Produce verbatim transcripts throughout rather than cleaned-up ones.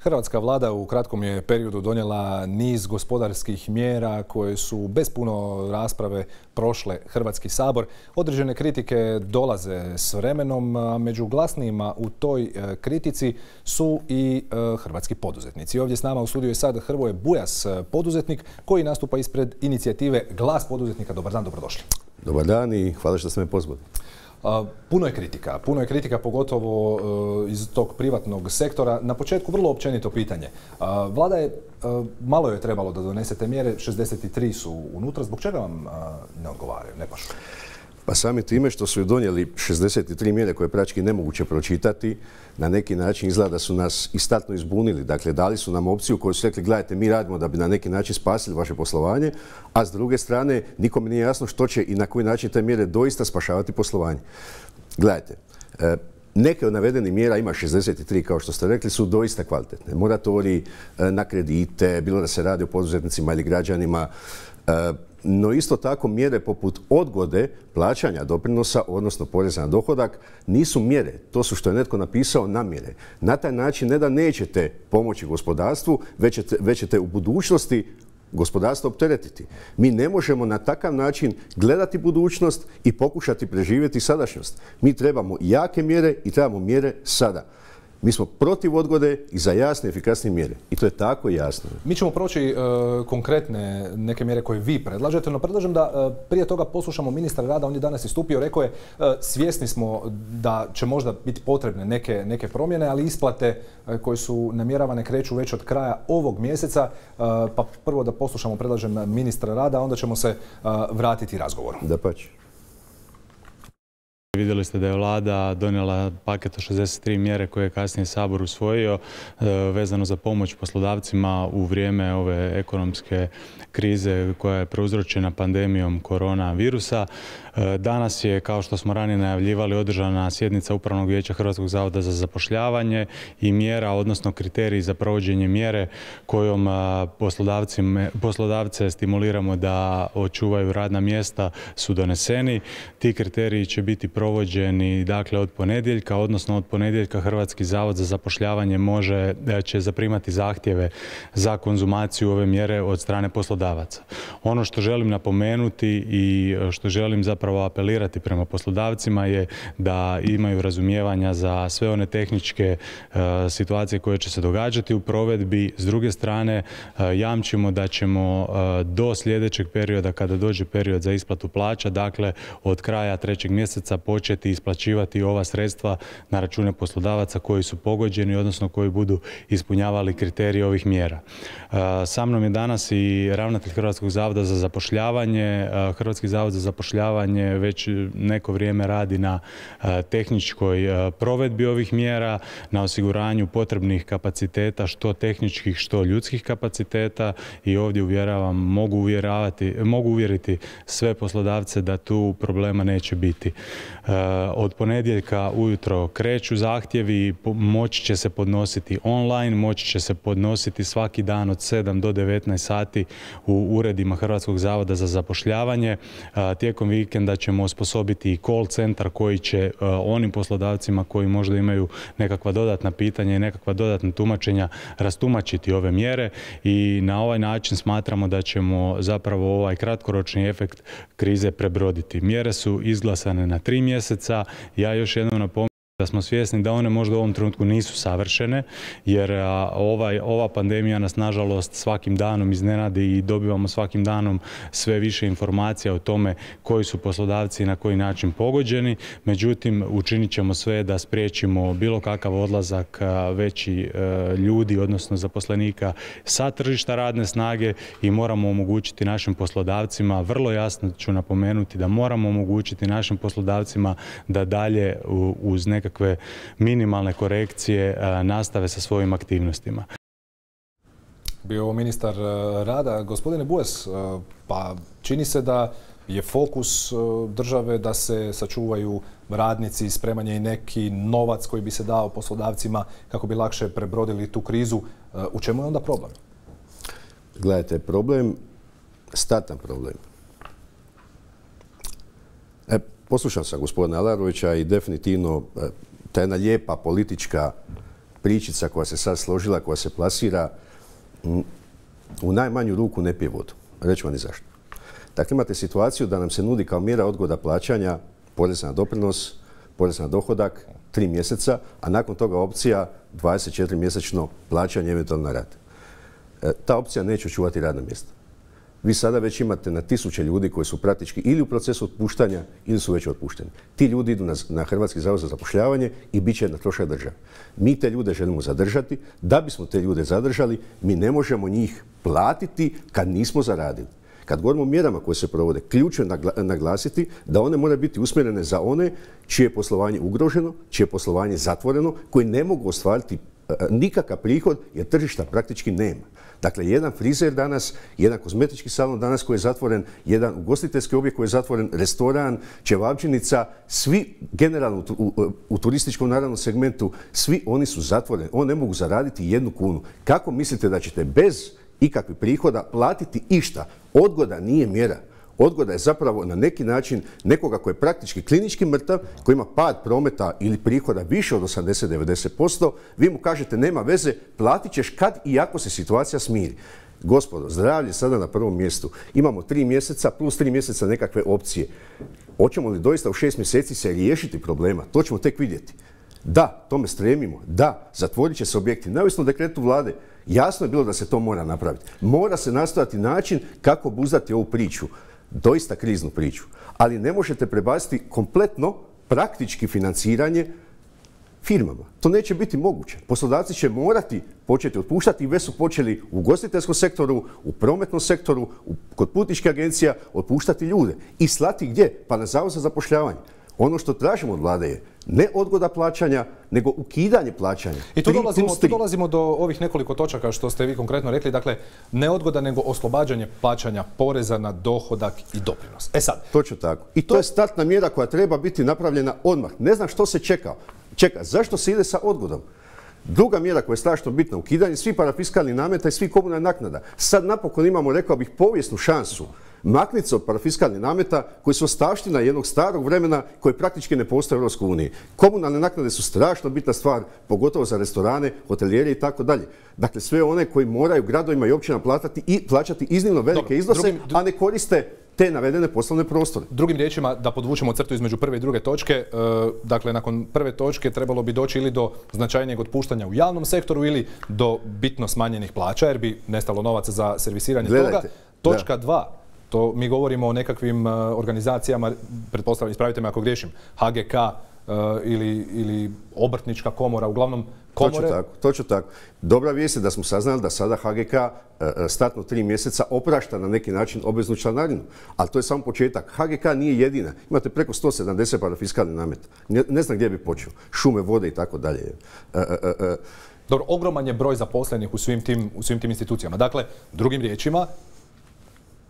Hrvatska vlada u kratkom je periodu donijela niz gospodarskih mjera koje su bez puno rasprave prošle Hrvatski sabor. Određene kritike dolaze s vremenom, a među glasnijima u toj kritici su i hrvatski poduzetnici. Ovdje s nama u studiju je sad Hrvoje Bujas, poduzetnik koji nastupa ispred inicijative Glas poduzetnika. Dobar dan, dobrodošli. Dobar dan i hvala što ste me pozvali. Puno je kritika, puno je kritika pogotovo iz tog privatnog sektora. Na početku vrlo općenito pitanje. Vlada je, malo je trebalo da donesete mjere, šezdeset tri su unutra. Zbog čega vam ne odgovaraju, ne pašu? Pa sami time što su donijeli šezdeset tri mjere koje je praktički nemoguće pročitati, na neki način izgleda da su nas istatno izbunili. Dakle, dali su nam opciju koju su rekli, gledajte, mi radimo da bi na neki način spasili vaše poslovanje, a s druge strane nikome nije jasno što će i na koji način te mjere doista spašavati poslovanje. Gledajte, neke od navedenih mjera, ima šezdeset tri kao što ste rekli, su doista kvalitetne. Moratorij na kredite, bilo da se radi o poduzetnicima ili građanima, no isto tako mjere poput odgode plaćanja doprinosa, odnosno poreza na dohodak, nisu mjere. To su, što je netko napisao, namjere. Na taj način ne da nećete pomoći gospodarstvu, već ćete, već ćete u budućnosti gospodarstvo opteretiti. Mi ne možemo na takav način gledati budućnost i pokušati preživjeti sadašnjost. Mi trebamo jake mjere i trebamo mjere sada. Mi smo protiv odgode i za jasne i efikasne mjere. I to je tako jasno. Mi ćemo proći uh, konkretne neke mjere koje vi predlažete, no predlažem da uh, prije toga poslušamo ministra rada. On je danas istupio, rekao je uh, svjesni smo da će možda biti potrebne neke, neke promjene, ali isplate uh, koje su namjeravane kreću već od kraja ovog mjeseca. Uh, pa prvo da poslušamo, predlažem, ministra rada, a onda ćemo se uh, vratiti razgovoru. Dapače. Vidjeli ste da je vlada donijela paket od šezdeset tri mjere koje je kasnije Sabor usvojio vezano za pomoć poslodavcima u vrijeme ove ekonomske krize koja je prouzročena pandemijom koronavirusa. Danas je, kao što smo ranije najavljivali, održana sjednica Upravnog vijeća Hrvatskog zavoda za zapošljavanje i mjera, odnosno kriteriji za provođenje mjere kojom poslodavce stimuliramo da očuvaju radna mjesta su doneseni. Ti kriteriji će biti provođeni dakle od ponedjeljka, odnosno od ponedjeljka Hrvatski zavod za zapošljavanje može, će zaprimati zahtjeve za konzumaciju ove mjere od strane poslodavaca. Ono što želim napomenuti i što želim zapravo apelirati prema poslodavcima je da imaju razumijevanja za sve one tehničke uh, situacije koje će se događati u provedbi. S druge strane, uh, jamčimo da ćemo uh, do sljedećeg perioda, kada dođe period za isplatu plaća, dakle od kraja trećeg mjeseca početi isplaćivati ova sredstva na račune poslodavaca koji su pogođeni, odnosno koji budu ispunjavali kriterije ovih mjera. Uh, sa mnom je danas i ravnatelj Hrvatskog zavoda za zapošljavanje. Uh, Hrvatski zavod za zapošljavanje već neko vrijeme radi na tehničkoj provedbi ovih mjera, na osiguranju potrebnih kapaciteta, što tehničkih, što ljudskih kapaciteta, i ovdje uvjeravam, mogu uvjeravati, mogu uvjeriti sve poslodavce da tu problema neće biti. Od ponedjeljka ujutro kreću zahtjevi, moći će se podnositi online, moći će se podnositi svaki dan od sedam do devetnaest sati u uredima Hrvatskog zavoda za zapošljavanje. Tijekom vikenda da ćemo osposobiti i call centar koji će uh, onim poslodavcima koji možda imaju nekakva dodatna pitanja i nekakva dodatna tumačenja rastumačiti ove mjere, i na ovaj način smatramo da ćemo zapravo ovaj kratkoročni efekt krize prebroditi. Mjere su izglasane na tri mjeseca. Ja još jednom napominjem da smo svjesni da one možda u ovom trenutku nisu savršene, jer ovaj, ova pandemija nas nažalost svakim danom iznenadi i dobivamo svakim danom sve više informacija o tome koji su poslodavci i na koji način pogođeni. Međutim, učinit ćemo sve da spriječimo bilo kakav odlazak veći ljudi, odnosno zaposlenika sa tržišta radne snage, i moramo omogućiti našim poslodavcima, vrlo jasno ću napomenuti da moramo omogućiti našim poslodavcima da dalje uz nekakve nekakve minimalne korekcije nastave sa svojim aktivnostima. Bio ovo ministar rada. Gospodine Bujas, pa čini se da je fokus države da se sačuvaju radnici, spremanje i neki novac koji bi se dao poslodavcima kako bi lakše prebrodili tu krizu. U čemu je onda problem? Gledajte, problem, statan problem. E, poslušao sam gospodina Alarovića i definitivno ta jedna lijepa politička pričica koja se sad složila, koja se plasira, u najmanju ruku ne pije vodu. Reći vam i zašto. Dakle, imate situaciju da nam se nudi kao mjera odgoda plaćanja poreza na doprinos, porez na dohodak, tri mjeseca, a nakon toga opcija dvadeset četiri mjesečno plaćanje eventualno na rad. E, ta opcija neće očuvati radna mjesta. Vi sada već imate na tisuće ljudi koji su praktički ili u procesu otpuštanja ili su već otpušteni. Ti ljudi idu na, na Hrvatski zavod za zapošljavanje i bit će na trošak države. Mi te ljude želimo zadržati. Da bismo te ljude zadržali, mi ne možemo njih platiti kad nismo zaradili. Kad govorimo o mjerama koje se provode, ključno je naglasiti da one moraju biti usmjerene za one čije je poslovanje ugroženo, čije je poslovanje zatvoreno, koji ne mogu ostvariti nikakav prihod jer tržišta praktički nema. Dakle, jedan frizer danas, jedan kozmetički salon danas koji je zatvoren, jedan ugostiteljski objekt koji je zatvoren, restoran, ćevabdžinica, svi generalno u, u, u turističkom naravno segmentu, svi oni su zatvoreni. Oni ne mogu zaraditi jednu kunu. Kako mislite da ćete bez ikakvih prihoda platiti išta? Odgoda nije mjera. Odgoda je zapravo na neki način nekoga koji je praktički klinički mrtav, koji ima pad prometa ili prihoda više od osamdeset do devedeset posto, vi mu kažete nema veze, platit ćeš kad i ako se situacija smiri. Gospodo, zdravlje sada na prvom mjestu. Imamo tri mjeseca plus tri mjeseca nekakve opcije. Hoćemo li doista u šest mjeseci se riješiti problema? To ćemo tek vidjeti. Da, tome stremimo. Da, zatvorit će se objekti. Neovisno o dekretu vlade, jasno je bilo da se to mora napraviti. Mora se nastojati način kako obuzdati ovu priču. Doista kriznu priču. Ali ne možete prebaciti kompletno praktički financiranje firmama. To neće biti moguće. Poslodavci će morati početi otpuštati i već su počeli u ugostiteljskom sektoru, u prometnom sektoru, u, kod putničkih agencija otpuštati ljude. I slati gdje? Pa na zavod za zapošljavanje. Ono što tražimo od vlade je ne odgoda plaćanja, nego ukidanje plaćanja. I tu dolazimo, tu dolazimo do ovih nekoliko točaka što ste vi konkretno rekli. Dakle, ne odgoda, nego oslobađanje plaćanja poreza na dohodak i doprinos. E sad. Točno tako. I to, to je startna mjera koja treba biti napravljena odmah. Ne znam što se čeka. Čeka. Zašto se ide sa odgodom? Druga mjera koja je strašno bitna, ukidanje svih parafiskalnih nameta i svih komunalnih naknada. Sad napokon imamo, rekao bih, povijesnu šansu makniti se od parafiskalnih nameta koji su ostavština jednog starog vremena koji praktički ne postoje u Europskoj uniji. Komunalne naknade su strašno bitna stvar, pogotovo za restorane, hotelijere i tako dalje. Dakle, sve one koji moraju gradovima i općinama plaćati i plaćati iznimno velike Dobro, iznose, drugim, dru... a ne koriste te navedene poslovne prostore. Drugim riječima, da podvučemo crtu između prve i druge točke, e, dakle, nakon prve točke trebalo bi doći ili do značajnijeg otpuštanja u javnom sektoru ili do bitno smanjenih plaća, jer bi nestalo novaca za servisiranje Gledajte, toga. Točka dva. To mi govorimo o nekakvim uh, organizacijama, pretpostavljam, ispravite me ako griješim, H G K uh, ili, ili obrtnička komora, uglavnom komore. Točno tako, točno tako. Dobra vijest je da smo saznali da sada H G K uh, startno tri mjeseca oprašta na neki način obveznu članarinu. Ali to je samo početak. H G K nije jedina. Imate preko sto sedamdeset parafiskalnih nameta. Ne, ne znam gdje bi počeo. Šume, vode i tako dalje. Uh, uh, uh. Dobro, ogroman je broj zaposlenih u svim tim, u svim tim institucijama. Dakle, drugim riječima,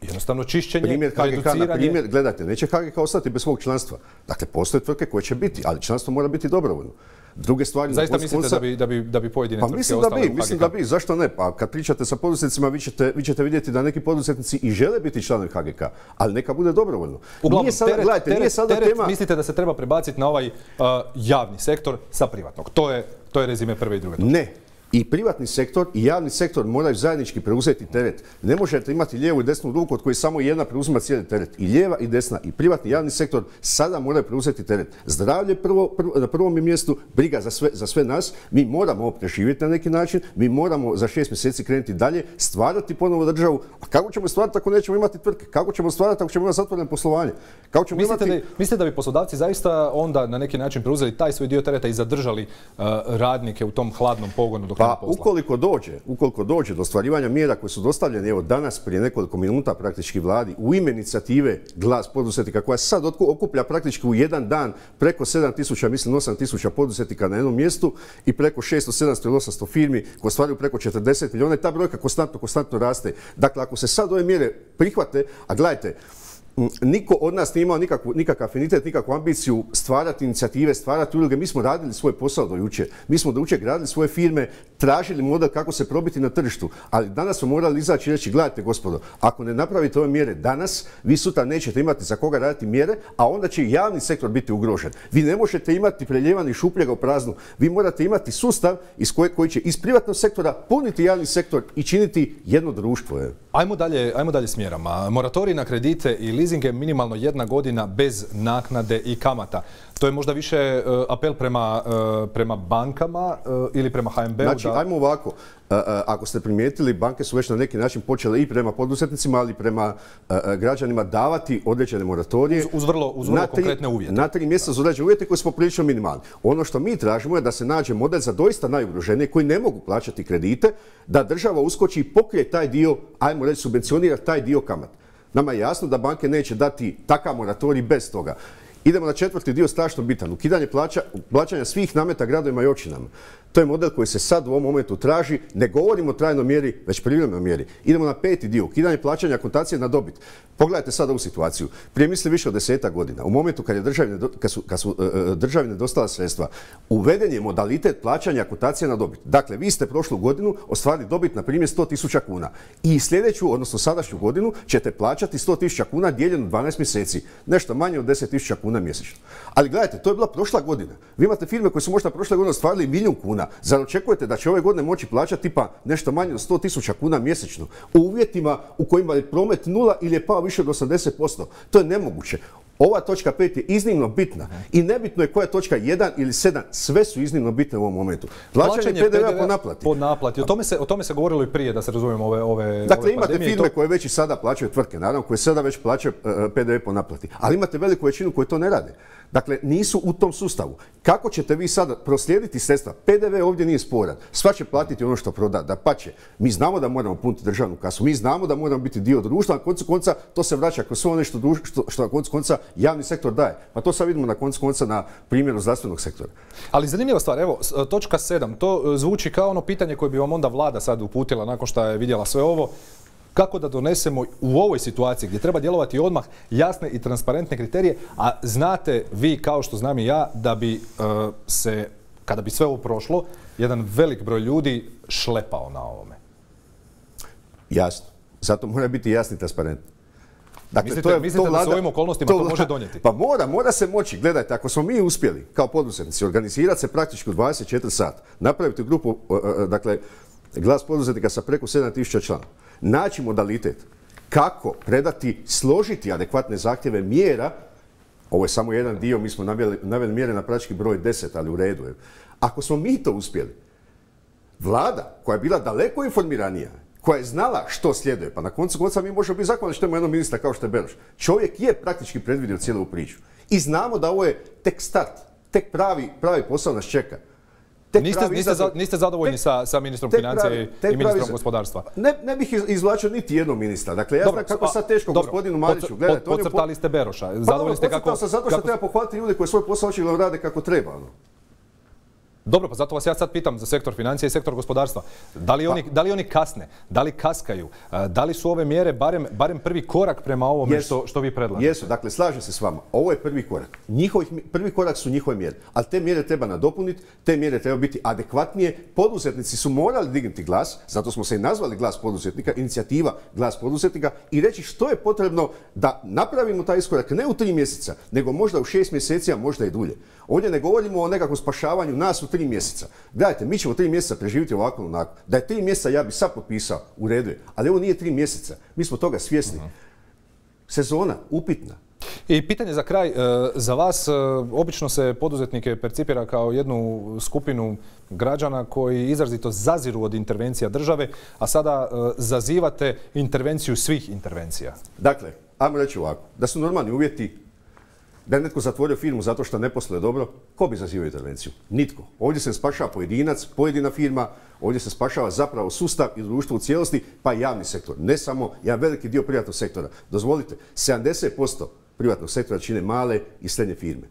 jednostavno čišćenje, primjer H G K, reduciranje. Na primjer, gledajte, neće H G K ostati bez svog članstva. Dakle, postoje tvrtke koje će biti, ali članstvo mora biti dobrovoljno. Druge stvari... Zaista mislite da bi, da bi, da bi pojedine pa tvrtke mislim ostale da bi, u H G K? Mislim da bi, zašto ne? Pa kad pričate sa poduzetnicima, vi ćete, vi ćete vidjeti da neki poduzetnici i žele biti članovi H G K, ali neka bude dobrovoljno. Uglavnom, nije sada, teret, gledajte, teret, nije sada teret, tema... mislite da se treba prebaciti na ovaj uh, javni sektor sa privatnog. To je, to je rezime prve i druge točke. Ne. I privatni sektor i javni sektor moraju zajednički preuzeti teret. Ne možete imati lijevu i desnu ruku od koje samo jedna preuzima cijeli teret. I lijeva i desna i privatni i javni sektor sada moraju preuzeti teret. Zdravlje prvo, prvo, na prvom mjestu, briga za sve, za sve nas. Mi moramo ovo preživjeti na neki način. Mi moramo za šest mjeseci krenuti dalje, stvarati ponovo državu. A kako ćemo stvarati ako nećemo imati tvrtke? Kako ćemo stvarati ako ćemo imati zatvoreno poslovanje? Kako ćemo mislite, imati... da, mislite da bi poslodavci zaista onda na neki način preuzeli taj svoj dio tereta i zadržali uh, radnike u tom hladnom pogonu dok Pa ukoliko dođe, ukoliko dođe do ostvarivanja mjera koje su dostavljene evo danas prije nekoliko minuta praktički vladi u ime inicijative Glas poduzetnika koja sad okuplja praktički u jedan dan preko sedam tisuća, mislim osam tisuća poduzetnika na jednom mjestu i preko šesto, sedamsto ili osamsto firmi koje ostvaruju preko četrdeset milijuna i ta brojka konstantno, konstantno raste. Dakle, ako se sad ove mjere prihvate, a gledajte, Niko od nas nije imao nikakvu, nikakav afinitet, nikakvu ambiciju stvarati inicijative, stvarati udruge. Mi smo radili svoj posao do jučer. Mi smo do jučer gradili svoje firme, tražili model kako se probiti na tržištu. Ali danas smo morali izaći i reći, gledajte gospodo, ako ne napravite ove mjere danas, vi sutra nećete imati za koga raditi mjere, a onda će i javni sektor biti ugrožen. Vi ne možete imati preljevani šupljega u praznu. Vi morate imati sustav iz koje, koji će iz privatnog sektora puniti javni sektor i činiti jedno društvo. Je. Ajmo dalje, ajmo dalje s mjerama. Moratorij na kredite i leasinge minimalno jedna godina bez naknade i kamata. To je možda više uh, apel prema, uh, prema bankama uh, ili prema H N B-u? Znači, da... ajmo ovako. Uh, uh, ako ste primijetili, banke su već na neki način počele i prema poduzetnicima, ali i prema uh, građanima davati određene moratorije. Uz, uz vrlo, uz vrlo na tri, konkretne uvjete. Na tri mjeseca uz određene uvjete koji smo prilično minimalni. Ono što mi tražimo je da se nađe model za doista najugroženije koji ne mogu plaćati kredite, da država uskoči i pokrije taj dio, ajmo reći, subvencionira taj dio kamata. Nama je jasno da banke neće dati takav moratorij bez toga. Idemo na četvrti dio, strašno bitan. Ukidanje plaća, plaćanja svih nameta gradovima i općinama. To je model koji se sad u ovom momentu traži. Ne govorimo o trajnoj mjeri, već privremenoj mjeri. Idemo na peti dio, ukidanje plaćanja akontacije na dobit. Pogledajte sad ovu situaciju. Prije misli više od desetak godina. U momentu kad, je državi, kad su, kad su uh, državi nedostala sredstva, uveden je modalitet plaćanja akontacije na dobit. Dakle, vi ste prošlu godinu ostvarili dobit na primjer sto tisuća kuna. I sljedeću, odnosno sadašnju godinu, ćete plaćati sto tisuća kuna dijeljeno dvanaest mjeseci. Nešto manje od deset tisuća kuna mjesečno. Ali gledajte, to je bila prošla godina. Vi imate firme koje su možda prošle godine ostvarili milijun kuna. Zar očekujete da će ove godine moći plaćati tipa nešto manje od sto tisuća kuna mjesečno u uvjetima u kojima je promet nula ili je pao više od osamdeset posto? To je nemoguće. Ova točka pet je iznimno bitna i nebitno je koja je točka jedan ili sedam, sve su iznimno bitne u ovom momentu. Plaćanje P D V-a po naplati. Po naplati. O tome se, o tome se govorilo i prije, da se razumijemo ove, ove Dakle, ove imate pandemije, firme to... koje već i sada plaćaju tvrtke, naravno, koje sada već plaćaju uh, P D V po naplati. Ali imate veliku većinu koji to ne rade. Dakle, nisu u tom sustavu. Kako ćete vi sada proslijediti sredstva? P D V ovdje nije sporan. Sva će platiti ono što proda. Dapače, mi znamo da moramo puniti državnu kasu. Mi znamo da moramo biti dio društva. Na koncu konca to se vraća kroz sve ono što, što, što na koncu konca javni sektor daje. Pa to sad vidimo na koncu konca na primjeru zdravstvenog sektora. Ali zanimljiva stvar, evo, točka sedam, to zvuči kao ono pitanje koje bi vam onda vlada sad uputila nakon što je vidjela sve ovo. Kako da donesemo u ovoj situaciji gdje treba djelovati odmah jasne i transparentne kriterije, a znate vi kao što znam i ja da bi uh, se, kada bi sve ovo prošlo, jedan velik broj ljudi šlepao na ovome. Jasno. Zato mora biti jasni i transparentni. Dakle, mislite, to je, mislite to vlada, da s ovim okolnostima to, to može donijeti? Pa mora, mora se moći. Gledajte, ako smo mi uspjeli kao poduzetnici organizirati se praktički u dvadeset četiri sata, napraviti grupu, dakle, glas poduzetnika sa preko sedam tisuća članova, naći modalitet kako predati, složiti adekvatne zahtjeve mjera. Ovo je samo jedan dio, mi smo naveli, naveli mjere na praktički broj deset, ali u redu je. Ako smo mi to uspjeli, vlada koja je bila daleko informiranija, koja je znala što slijeduje, pa na koncu konca mi možemo biti zahvalni što imamo jednog ministra kao što je Beroš. Čovjek je praktički predvidio cijelu priču. I znamo da ovo je tek start, tek pravi, pravi posao nas čeka. Niste, niste, za, niste zadovoljni tek, sa, sa ministrom financija i ministrom pravi, gospodarstva? Ne, ne bih izvlačio niti jednog ministra. Dakle, ja znam kako sad teško dobro, gospodinu Mariću. Gledajte, pod, podcrtali ste Beroša. Zadovoljni pa, ste kako... sam zato što kako... treba pohvaliti ljude koji svoj posao očigledno rade kako treba. No. Dobro, pa zato vas ja sad pitam za sektor financija i sektor gospodarstva. Da li oni, pa, da li oni kasne? Da li kaskaju? Da li su ove mjere barem, barem prvi korak prema ovome jesu, što, što vi predlažete? Jesu, dakle, slažem se s vama. Ovo je prvi korak. Njihovih, prvi korak su njihove mjere. Ali te mjere treba nadopuniti, te mjere treba biti adekvatnije. Poduzetnici su morali dignuti glas, zato smo se i nazvali glas poduzetnika, inicijativa glas poduzetnika, i reći što je potrebno da napravimo taj iskorak ne u tri mjeseca, nego možda u šest mjeseci, a možda i dulje. Ovdje ne govorimo o nekakvom spašavanju nas u tri mjeseca. Gledajte, mi ćemo tri mjeseca preživjeti ovako onako. Da je tri mjeseca ja bi sad potpisao, u redu je. Ali ovo nije tri mjeseca. Mi smo toga svjesni. Uh-huh. Sezona, upitna. I pitanje za kraj, za vas, obično se poduzetnike percipira kao jednu skupinu građana koji izrazito zaziru od intervencija države, a sada zazivate intervenciju svih intervencija. Dakle, ajmo reći ovako, da su normalni uvjeti, da je netko zatvorio firmu zato što ne posluje dobro, ko bi zazivao intervenciju? Nitko. Ovdje se spašava pojedinac, pojedina firma, ovdje se spašava zapravo sustav i društvo u cijelosti, pa i javni sektor. Ne samo jedan veliki dio privatnog sektora. Dozvolite, sedamdeset posto privatnog sektora čine male i srednje firme.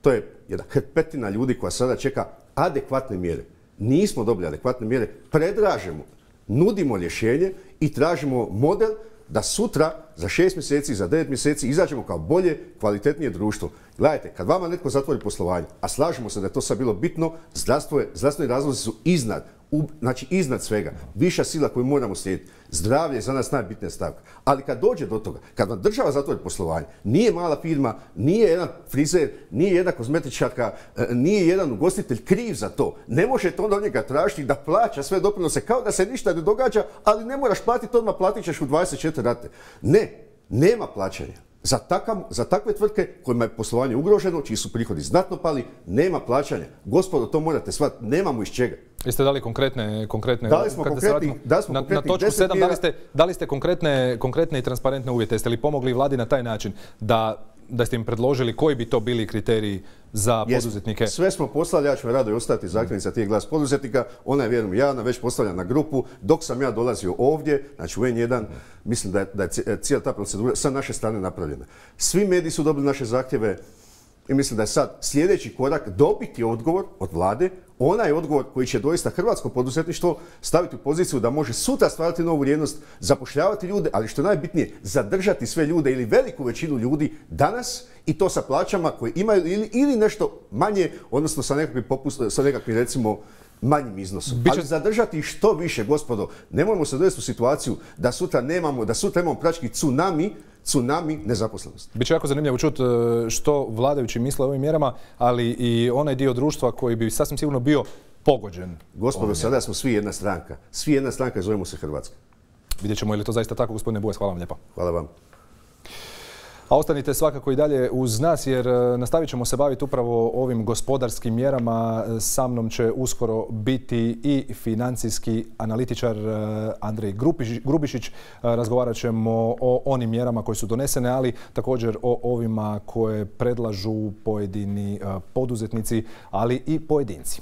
To je jedna hrpetina ljudi koja sada čeka adekvatne mjere. Nismo dobili adekvatne mjere, predražemo, nudimo rješenje i tražimo model da sutra, za šest mjeseci, za devet mjeseci izađemo kao bolje, kvalitetnije društvo. Gledajte, kad vama netko zatvori poslovanje, a slažemo se da je to sad bilo bitno, zdravstvo je, zdravstveni razlozi su iznad, u, znači iznad svega. Viša sila koju moramo slijediti. Zdravlje je za nas najbitnija stavka. Ali kad dođe do toga, kad vam država zatvori poslovanje, nije mala firma, nije jedan frizer, nije jedna kozmetičarka, nije jedan ugostitelj kriv za to. Ne možete onda od njega tražiti da plaća sve doprinose kao da se ništa ne događa, ali ne moraš platiti odmah, platit ćeš u dvadeset četiri rate. Ne, nema plaćanja. Za, takav, za takve tvrtke kojima je poslovanje ugroženo, čiji su prihodi znatno pali, nema plaćanja. Gospodo, to morate shvatiti, nemamo iz čega. Jeste dali konkretne... konkretne dali smo konkretni, da smo na, konkretni na točku sedam dali ste, dali ste konkretne, konkretne i transparentne uvjete. Jeste li pomogli vladi na taj način da, da ste im predložili koji bi to bili kriteriji za poduzetnike? Sve smo poslali, ja ću rado i ostati zahtjevnica tih Glas poduzetnika. Ona je, vjerujem, javna, već postavljena na grupu. Dok sam ja dolazio ovdje, znači u en jedan, mislim da je, da je cijela ta procedura sa naše strane napravljena. Svi mediji su dobili naše zahtjeve i mislim da je sad sljedeći korak dobiti odgovor od vlade, onaj odgovor koji će doista hrvatsko poduzetništvo staviti u poziciju da može sutra stvarati novu vrijednost, zapošljavati ljude, ali što je najbitnije, zadržati sve ljude ili veliku većinu ljudi danas i to sa plaćama koje imaju ili, ili nešto manje, odnosno sa nekakvim, popust, sa nekakvim recimo manjim iznosom. Biće... Ali zadržati što više, gospodo. Nemojmo se dovesti u situaciju da sutra nemamo, da sutra imamo praktički tsunami, tsunami nezaposlenosti. Biće jako zanimljivo čuti što vladajući misle o ovim mjerama, ali i onaj dio društva koji bi sasvim sigurno bio pogođen. Gospodo, sada smo svi jedna stranka. Svi jedna stranka i zovemo se Hrvatska. Vidjet ćemo je li to zaista tako, gospodine Bujas. Hvala vam lijepa. Hvala vam. A ostanite svakako i dalje uz nas jer nastavit ćemo se baviti upravo ovim gospodarskim mjerama. Sa mnom će uskoro biti i financijski analitičar Andrej Grubišić. Razgovarat ćemo o onim mjerama koje su donesene, ali također o ovima koje predlažu pojedini poduzetnici, ali i pojedinci.